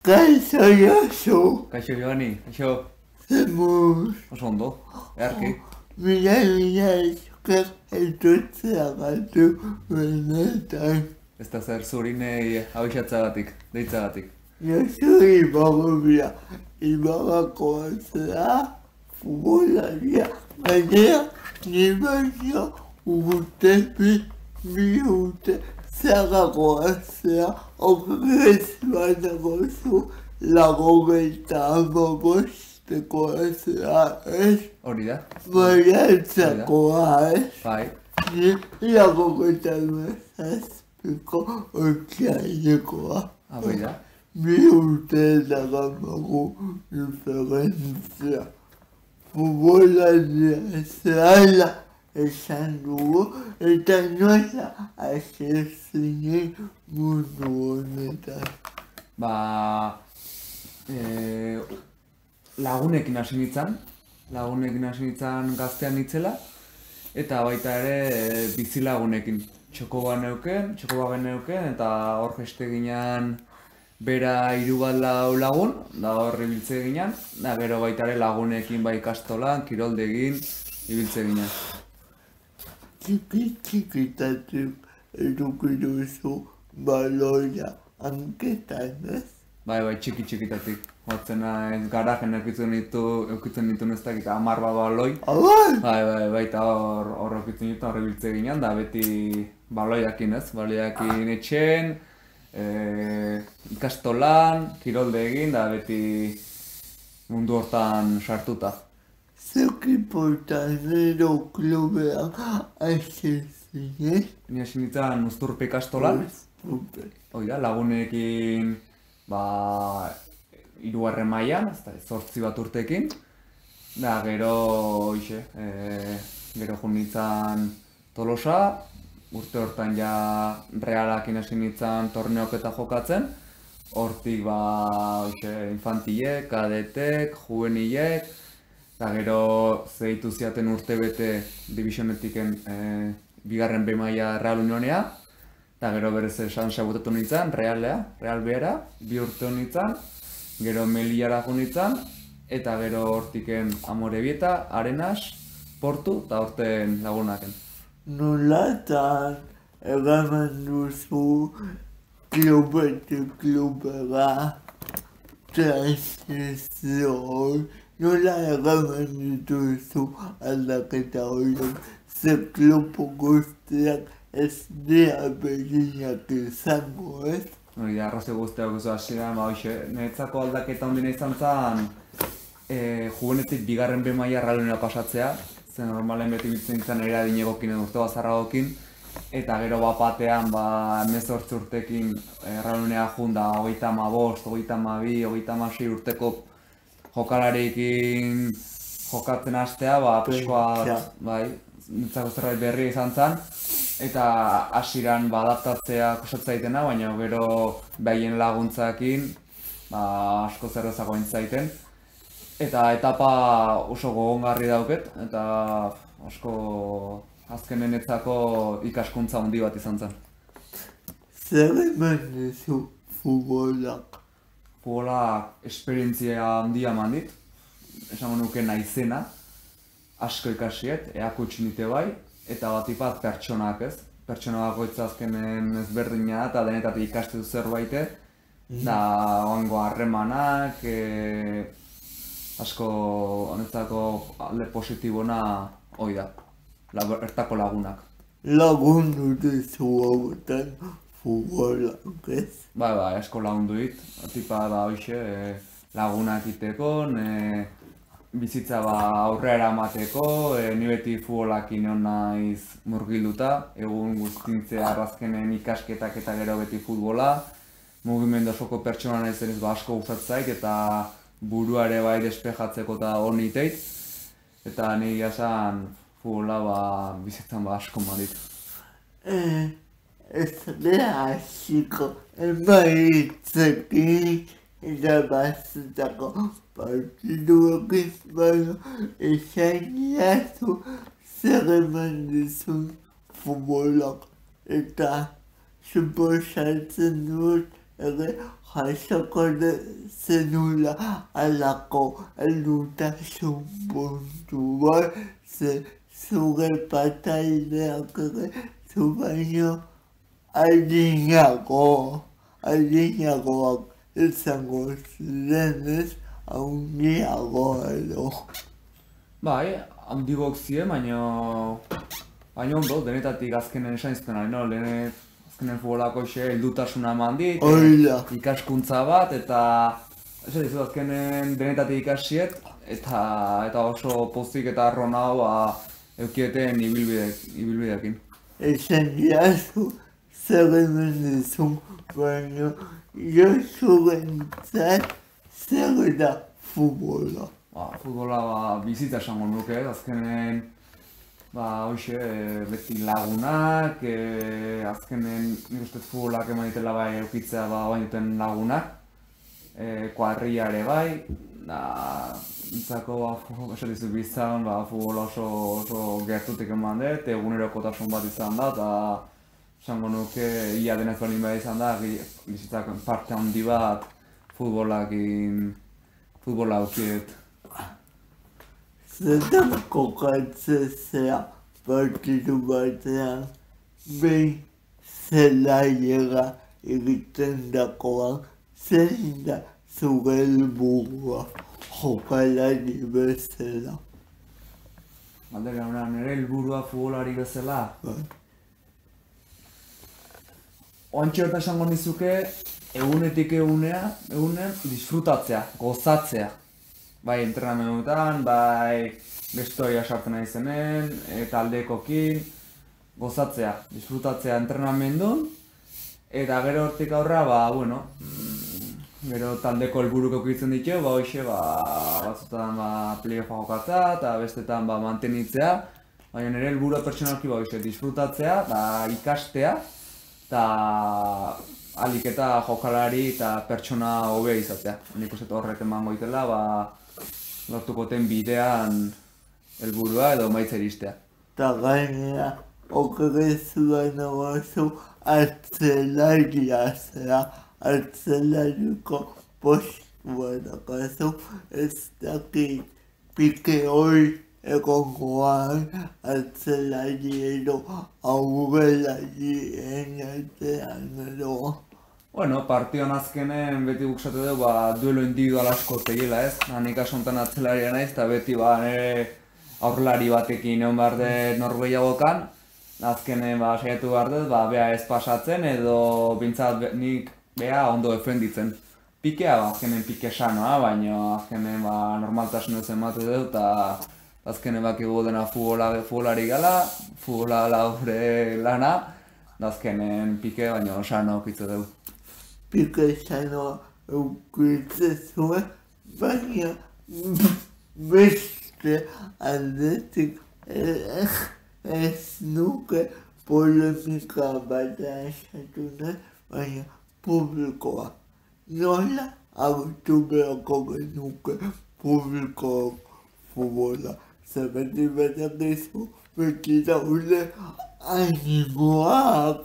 Kaixo Josu. Kaixo Joani, kaixo. Zemuz. Oso ondo, eharki. Mila esker etortzeagatik benetan. Ez da zer zurinei abixatzagatik, deitzagatik. Josu Ibarrakoa zera, futbolaria, gainera, ni baino bi urte zerrakoa zera, okrez banago zu, 85 zera, ez? Hori da? Baiantzakoa, ez? Bai. Ni 87ko otxailekoa. Bai da? Bi urte daramagu diferentzia. Futbolaria zela esan dugu, eta nola hasi zinen mundu honetan. Lagunekin hasi nintzen gaztean nitzela, eta baita ere bizilagunekin. Txoko neuken, eta hor jeste ginen bera 3-4 lagun, da hor ibiltze ginen, da gero baita ere lagunekin bai ikastolan, kiroldegin, ibiltze ginen. Txikitatik eduki duzu baloia hanketan, ez? Bai, txikitatik. Hotzen garajen eukitzen ditu ez dakit 10 baloi. Bai, eta hor eukitzen ditu, hor ibiltze ginen, da beti baloiakin ez, baloiakin etxen, ikastolan, kirolde egin, da beti mundu hortan sartuta. Zeuki portanero klubean hasi zinen? Ni hasi nintzen Uzturpe ikastolan, lagunekin 3. mailan, 8 bat urtekin, da gero jun nintzen Tolosa, urte hortan ja Realakin hasi nintzen torneoketa jokatzen, hortik infantilek, kadetek, juvenilek, eta gero zeitu ziaten urte bete divisionetiken 2. B maila Real Unionea, eta gero berez esan sabutatu nintzen, Real Bera, 2 urte nintzen, gero Melillara jo nintzen, eta gero hortiken Amorebieta, Arenas, Portu, eta horten lagunaken. Nolatan eraman duzu klubetik klubera transizio, nola eraman dituzu aldaketa horiek, ze klubu guztiak ez dira berdinak izango, ez? Hori da, arrazio guztiak oso hasieran, niretzako aldaketa ondina izan zen juvenetik 2. B maila Real Unionera pasatzea, zen normalen beti biltzen nintzen ere adinegokin edo urte bazarragokin, eta gero batean 18 urtekin Real Unionera jun da 35, 32, 36 urteko jokalarekin jokatzen hastea, pixkoa, nintzako zerbait berria izan zen, eta hasieran adaptatzea kostatzen zaitena, baina gero behien laguntzakin asko zerrezago zaiten. Eta etapa oso gogongarri dauket, eta asko azkenenetzako ikaskuntza handi bat izan zen. Zer eman duzu futbolak? Futbolak esperientzia handia eman dit, esango nuke naizena, asko ikasiet, eakutsi nite bai, eta batipat pertsonak ez. Pertsona bakoitza azkenen ezberdina eta denetatik ikastu zerbait, da oango harremanak, asko honetzako alde positibona hori da, bertako lagunak. Lagundu duzu hauetan futbolak, ez? Bai, asko lagundu dit, tipa lagunak iteko, bizitza aurrera emateko, ni beti futbolakin egon naiz murgilduta, egun guztintzea arrazkenen ikasketak eta gero beti futbola, mugimendu osoko pertsona naizenez asko gustatzen zait eta burua ere bai despejatzeko eta honi teit, eta nire esan futbola bizitzan asko madit. Ez dira hasiko emaitzekin eta bazutako partiduekin, baina esan jazu zer eman dizun futbolak eta suposatzen dut ere jasoko zenula alako heldutasun puntu bat, ze zure pataideak ere zu baino adinagoak izango zirenez, handiago edo. Bai, handigok ziren, baina ondo, denetatik azkenen esan izten no? Azkenen futbolako heldutasuna eman dit, ikaskuntza bat, eta azkenen denetatik ikasiet, eta oso pozik eta arronau eukieten ibilbideekin. Esan diazu, zer hemen dizun, baina Josurentzat zer da futbola? Futbola bizitza esango nuke, azkenen beti lagunak, azkenen nik uste futbolak eman ditela bai eukitzea bain duten lagunak, kuadrilla bai, nintzako esatizu bizan futbola oso gertutik eman dut, egunerokotasun bat izan da, eta esango nuke ia denez baldin behar izan da, bizitzak parte handi bat futbola aukiet. Zetan kokatzea partidu batean, behin zelaiera egiten dakoan, zein da zure helburua jokalari bezala. Galdera hona, nire helburua futbolari bezala? Oantxe horta esango nizuke, egunetik egunen disfrutatzea, gozatzea. Bai entrenamendutan, bai bestoia sartzen nahi zenen, taldekokin, gozatzea, disfrutatzea entrenamendun, eta gero hortik aurra, gero taldeko helburuk eukitzen ditu, batzutan playoffa jokatzea, eta bestetan mantenitzea, baina nire helburua pertsonalki disfrutatzea, ikastea, eta alik eta jokalari eta pertsona hobea izatea. Nik uste horrek emango itela, lortuko ten bidean helburua edo maitza iristea. Eta gainera, okerezua nagoazu artzelaria zera, artzelariko postua dakazu, ez dakit pike hori egongoan artzelari edo aurrelari enatean edo. Partioan azkenen beti buksatu dugu duelo individual asko tegila ez. Nik asontan atzelaria naiz eta beti nire aurrelari batekin egon behar dut norgehiagokan. Azkenen saiatu behar dut, bea ez pasatzen edo bintzat nik bea ondo defenditzen. Pikea azkenen pike sanoa, baina azkenen normaltasunez ematu dut eta azkenen bakigu dena futbolari gala, futbola gure lana, azkenen pike baina sano okitzu dugu. Pike sanoa eukitze zuen, baina beste aldetik ez nuke polemika bat esatu nahi, baina publikoa. Nola agutu beharko genuke publikoak futbola. Zebeti betak dizu, beti daude animoak,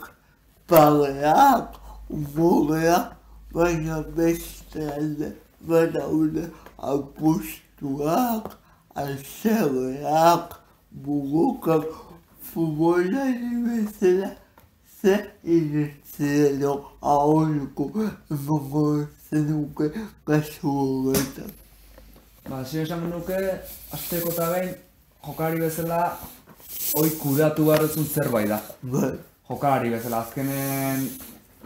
pareak, umoreak, baina beste alde badaude apustuak, asereak, burukak, futbolari bezala, ze inizielo aholku emango zenuke kasu horretan. Zire esan nuke, azteko eta behin, jokalari bezala, hoi kudeatu behar duzun zerbait da. Jokalari bezala, azkenen,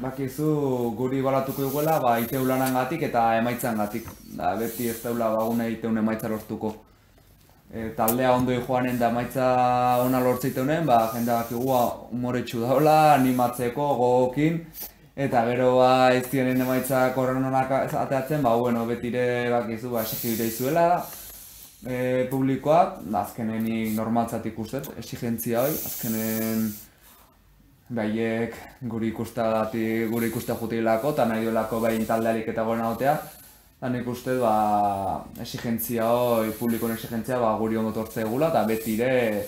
bakizu guri balatuko iguela, iteu lanangatik eta emaitzangatik. Beti ez daula bagune iteun emaitza lortuko. Taldea ondo joanen da emaitza ona lortzeiteunen, jendea bakigu umoretsu daula, animatzeko, gogokin. Eta gero ez dienen emaitzak horren honak ateatzen, betire bakizu esigibide izuela publikoak, azkenen normaltzat ikustet, exigentzia hori, azkenen behaiek guri ikuste jutilako eta nahi duelako behin taldealik eta goren agotea. Eta nik uste exigentzia hori, publikoen exigentzia guri ondo tortze egula eta betire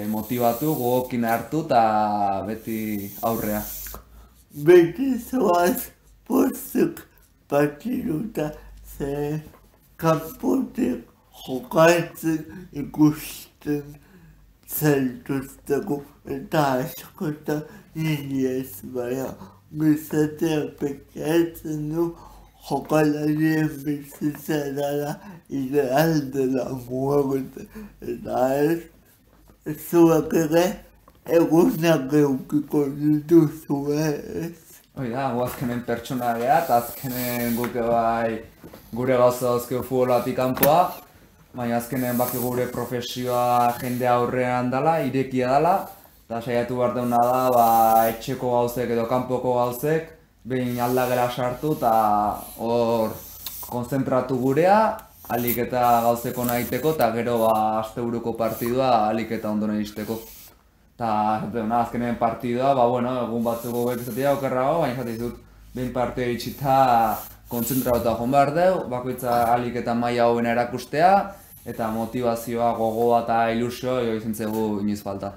motivatu, gogokin hartu eta beti aurrea. Beti zoaz pozik partiduta ze kanpotik jokatzen ikusten zaituzteko eta askotan niri ez baina gizatea pentsatzen du jokalarien bizitza dela ideal dela muerte eta ez zuek ere egunak eukiko dituzu ez. Hoi da, azkenen pertsona geha, eta azkenen guke bai gure gauza dauzkeo futbolatik kanpoa, baina azkenen baki gure profesioa jende aurrean dela, irekia dela, eta saiatu behar deuna da, etxeko gauzek edo kanpoko gauzek, behin aldagela sartu eta hor konzentratu gurea, alik eta gauzeko nahiteko, eta gero asteburuko partidua alik eta ondo nahizteko. Eta azkenen partidua, egun batzuko bekizatea okerrago, baina jate izut behin partidua itxita kontzentrauta joan behar deu, bakoitza alik eta maila hobena erakustea, eta motivazioa, gogoa eta ilusioa izan zegu inoiz falta.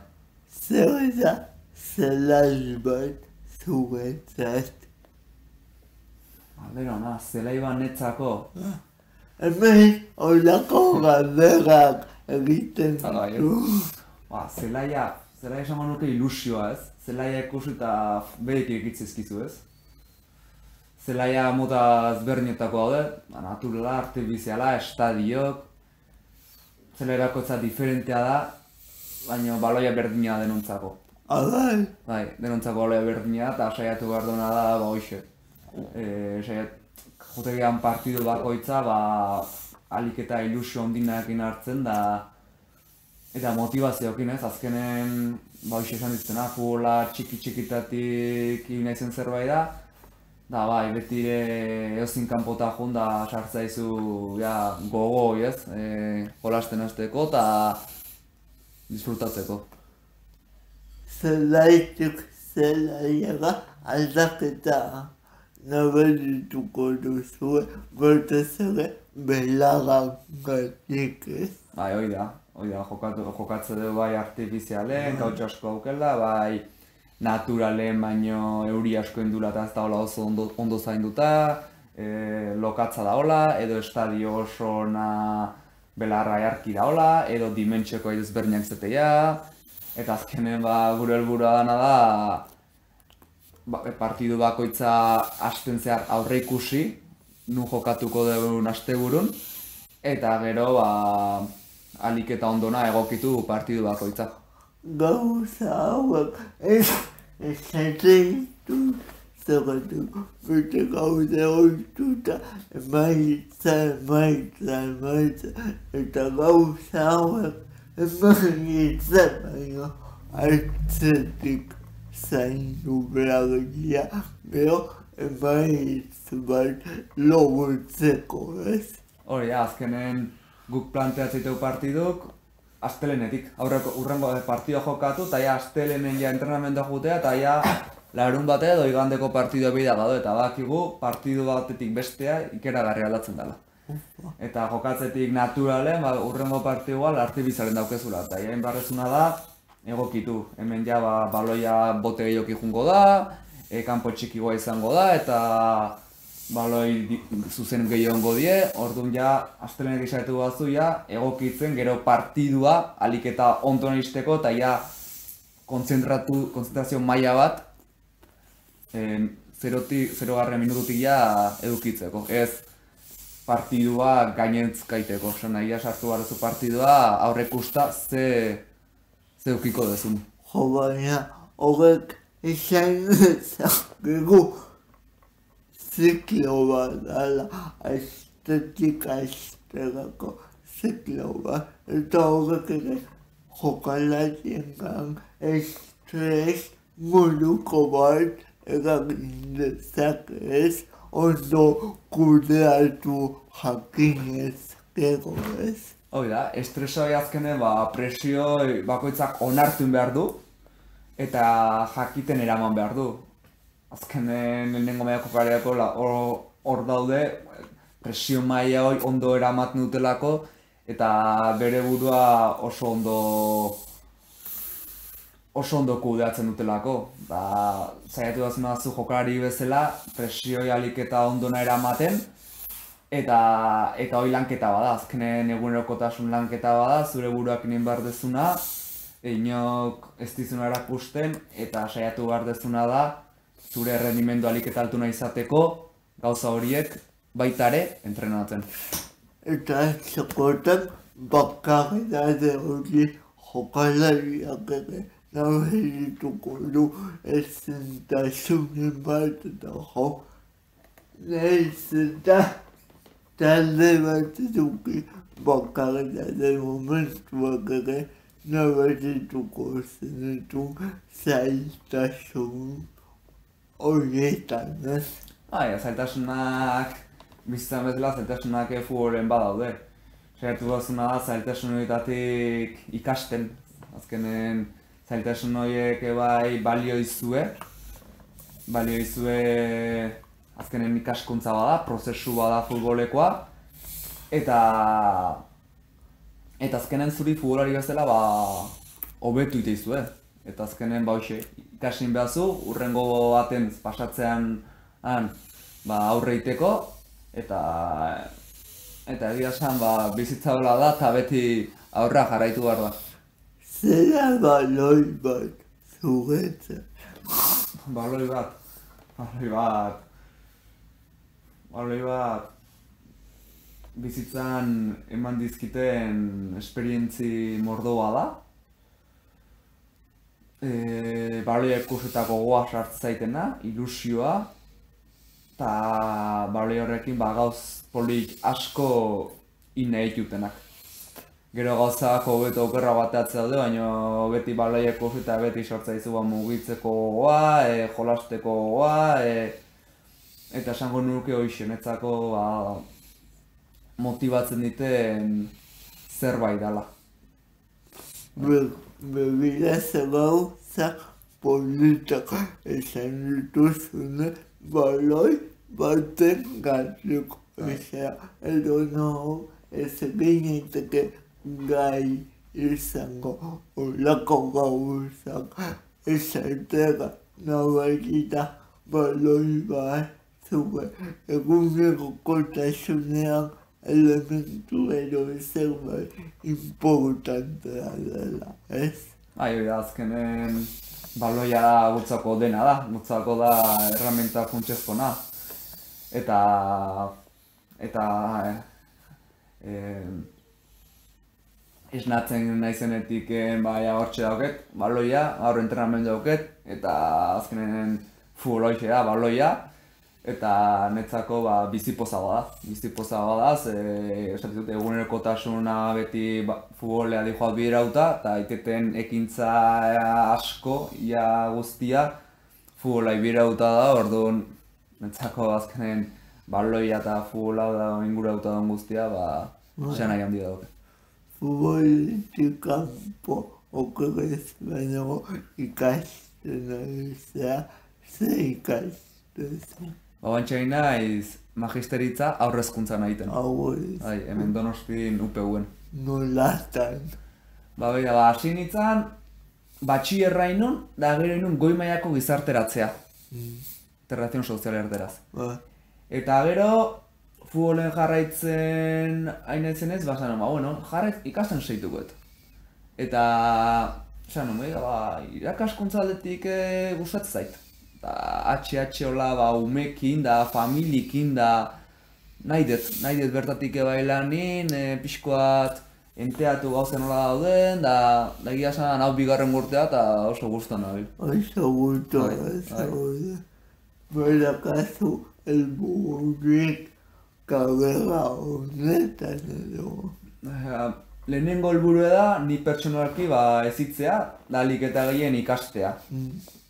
Zer da zelai bat zuretzat? Berona, zelai bat netzako. Hemen horako galderak egiten ditu. Zelaia esango nuke ilusioa ez, zelaia ikusi eta berik egitzizkizu ez. Zelaia mota ezberdinetako daude, naturala, artifiziala, estadiok, zelairako ez diferentea da, baina baloia berdina denontzako. Abai? Bai, denontzako baloia berdina eta saiatu behar duena da, hoxe. Jotegian partidu bakoitza, alik eta ilusio ondinakin hartzen da, eta motivazioekin ez, azkenen, hoxe esan ditzena, futbola txiki-txikitatik nahizen zerbait da, da beti eozin kanpota joan da sartzaizu gogo ez, jolasten hasteko eta disfrutatzeko. Zelaitik zelaiaga aldaketa nabarituko duzue, batez ere belagangatik ez. Hoi da, jokatze dugu bai artifizialen, gautxo asko aukela, bai naturalen baino euri asko indula eta ez da hola oso ondo zainduta, lokatza da hola, edo estadio oso belarra jarki da hola, edo dimentsioko ezberdinak zetea, eta azkenen gure helburua dana da partidu bakoitza hasten zehar aurre ikusi, nu jokatuko dugun asteburun, eta gero alik eta ondona egokitu partidu bakoitza. Gauza hauek esaten zerratu, bete gauza oituta emaitza, eta gauza hauek emaitza baino hartzetik zaindu beragia, gero emaitz bat logutzeko ez. Hori da, azkenen guk planteatzeitu partiduk, astelenetik, urrengo partidua jokatu, eta astelenen entrenamendua jutea, eta larun bate edo igandeko partidua bida gado, eta bakigu partidu batetik bestea ikeragarri aldatzen dela. Eta jokatzetik naturalen, urrengo partidua artibizaren daukezula, eta hain barrezuna da, egokitu. Hemen baloia bote gehioki jungo da, kanpo txikigoa izango da, eta baloi zuzen gehiongo die, orduan astelenek izaitu batzu egokitzen gero partidua alik eta ondo nahizteko eta konzentrazio maila bat 0 minututik edukitzeko. Ez partidua gainentzkaiteko, nahi sartu barrezu partidua aurrekusta ze edukiko dezun. Jo baina, horrek izan ezakegu ziklo bat dala, astetik asterako ziklo bat, eta horrek ere jokalariengan estres moduko bat eragin dezakez, ondo kudeatu jakinez gero ez. Hoi da, estresoi azkenen presio bakoitzak onartun behar du eta jakiten eraman behar du. Azkenen lehenengo mailako jokalariako hor daude, presio maila hori ondo eramaten dutelako eta bere burua oso ondo oso ondo kudeatzen dutelako. Saiatu dazuna zu jokalari bezala, presioi alik eta ondona eramaten, eta hori lanketa bada, azkenen egunerokotasun lanketa bada, zure buruak egin behar dezuna, inok ez dizuna erakusten, eta saiatu behar dezuna da, zure rendimendu alik eta altuna izateko, gauza horiek baitare entrenatzen. Eta txakotan bakarridade hori jokalariak ere nabarituko du ezintasunen bat eta jo. Nahiz eta talde bat eduki bakarridade momentuak ere nabarituko zenitun zailtasun horietan, ez? Zailtasunak, bizitzan bezala zailtasunak futbolen badaude. Saiatu dazuna da zailtasun horietatik ikasten. Azkenen zailtasun horiek bai balio izue. Azkenen ikaskuntza bada, prozesu bada futbolekoa. Eta azkenen zuri futbolari bezala hobetu iteizue. Eta azkenen ikasin behazu, urrengo baten pasatzean aurre iteko. Eta egia esan bizitza hola da eta beti aurra jarraitu behar da. Zera baloi bat zuretzat? Baloi bat bizitzan eman dizkiten esperientzi mordoa da. Baloi ikusetako goa sartzen zaitena, ilusioa. Eta baloi horrekin gauz polik asko nahi jutenak. Gero gauzak hobeto okerra bateatzea daude, baina beti baloieko eta beti sortza izu mugitzeko gogoa, jolasteko gogoa, eta esango nuke hoxe, netzako motibatzen diten zerbait dela. Begira gauzak politak esan dituzune, baloi baten gatzuk, edo naho ez egin gai izango olako gauzak esatera nabarita baloi bat zure egunerokotasunean elementu edo zerbait importantea dela, ez? Azkenen baloia gutzako dena da, gutzako da erramenta funtsezkoa. Eta esnatzen naizenetik hortxe dauket, baloia, gaur entrenamendu dauket, eta azkenen futbol hoxe da, baloia, eta netzako bizipoza bada, esatzen dut egunerokotasuna beti futbolea dihoat biderauta, eta iteten ekintza asko, ia guztia, futbola biderauta da, orduan netzako azkenen baloia eta futbola da ingurauta den guztia, esan nahi handia dauke. Futbolitik kanpo okerrez baino ikasten ari ze ikasten? Bantxain naiz magisteritza aurrezkuntzan egiten. Aurrez. Hemen Donostin UPU-en. Nolatan? Hasi nintzen, batxillerra inun, da gero inun goi mailako gizarteratzea. Integrazion sozial erderaz. Eta gero, futbolen jarraitzen hainetzen ez, ikasten seitukoet. Eta, irakaskuntza aldetik gustatzen zait. HH hola umekin da, familiekin da, nahi dut bertatik bailanin, pixkoat enteatu gauzen hola dauden, da egia esan hau bigarren urtea eta oso gustan nabil. Oso gustan, berakazu helbururik karrera honetan edo. Lehenengo helburua da, ni pertsonalki ezitzea, da ahalik eta gehien ikastea.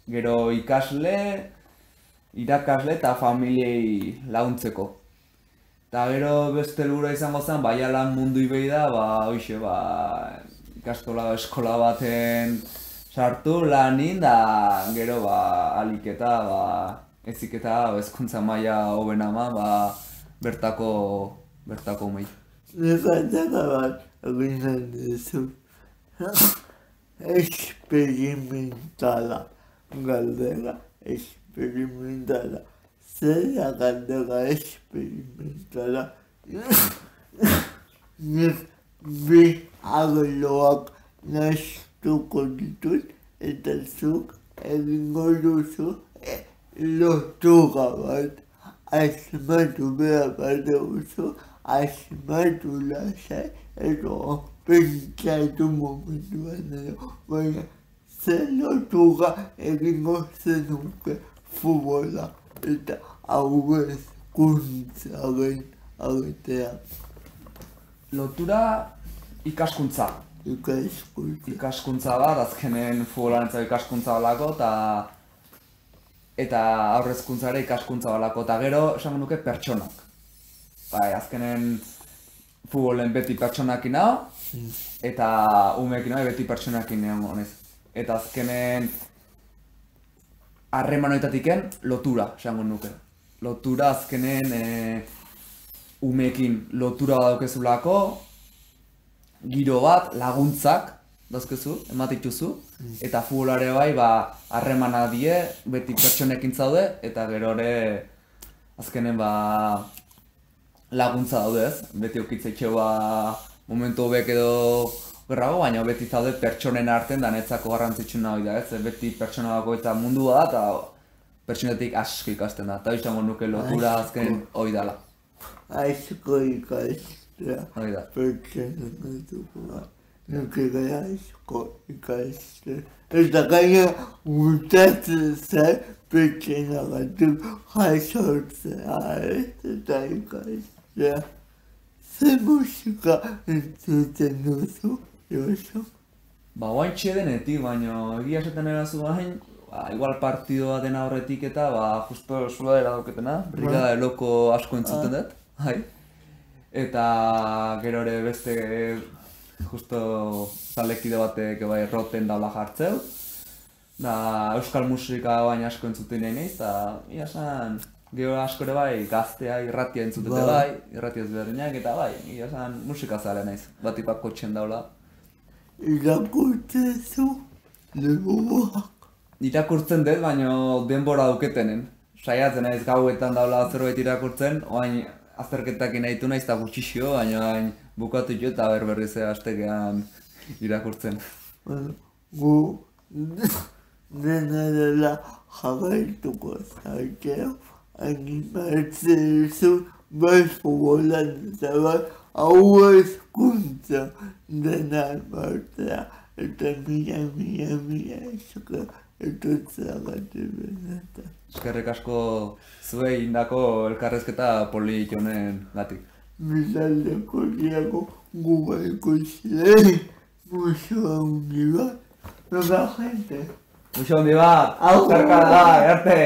Gero ikasle, irakasle eta familiei laguntzeko. Eta gero beste helburua izango zen, lan mundu ibei da, ikastola eskola baten sartu lanin, da gero ahalik eta eziketa hezkuntza maila hobena bertako umei. Nekatara bat egiten duzu. experimentala galdera experimentala zera galdera experimentala nik bi arloak nahastuko ditut eta zuk egingo duzu lotura bat asmatu behar baduzu asmatu lasai edo pentsatu momentuan edo baina zer lotura egingo zenuke futbola eta hau hezkuntzaren artean. Lotura ikaskuntza. Ikaskuntza bat, azkenen futbolanetza ikaskuntza balako, eta aurrezkuntzare ikaskuntza balako, eta gero esango nuke pertsonak. Bai, azkenen futbolen beti pertsonakin hau, eta umeekin hau beti pertsonakin honez. Eta azkenen harremanoetatiken lotura, esango nuke. Lotura azkenen umeekin lotura badaukezulako, giro bat, laguntzak, dauzkezu, ematituzu, eta futbolare bai, harremana die, beti pertsonekin zaude, eta gero ere, azkenen laguntza daude ez, beti okitzaitxeu momentu hobek edo gerrago, baina beti zaude pertsonen artean da netzako garrantzitsuna hori da ez, beti pertsona bako eta mundua da, eta pertsonetik asko ikasten da, eta izango nuke lotura azkenen hori dala. Asko ikastea, pertsona dugu. Nuke gara asko ikastea. Eta gaina gustatzen zen pertsona batzuk jasortzea eta ikastea. Zer musika entzuten duzu, Josu? Oain txedenetik, baina egia esaten erazu gain, igual partidoa dena horretik eta justo zuladera dauketena, Brigada de Loko asko entzuten dut. Eta gero ere beste justo talekide batek roten daula jartzeu. Euskal musika baina asko entzuten nahi nahiz, eta ia esan gero asko ere bai gaztea irratia entzutete bai, irratia ezberdinak eta bai, ia esan musika zale naiz, bat ipako txen daula. Irakurtzen zu, liburuak? Irakurtzen dut, baina denbora duketenen. Saiatzen naiz gauetan daula zerbait irakurtzen, oain azterketak nahitu naiz eta gutxixio, baina bukatu jo eta berriz astekean irakurtzen. Gu dena dela jarraituko zaiteo, animatzen duzu bai futbolan eta bai hau hezkuntza dena martea eta mila esker etortzeagatik benetan. Eskerrik asko zuei indako elkarrezketa polit honen gatik. Bizaldeko diago gubaiko zirei, muxo handi bat, noga gente. Muxo handi bat, zerka da, erte!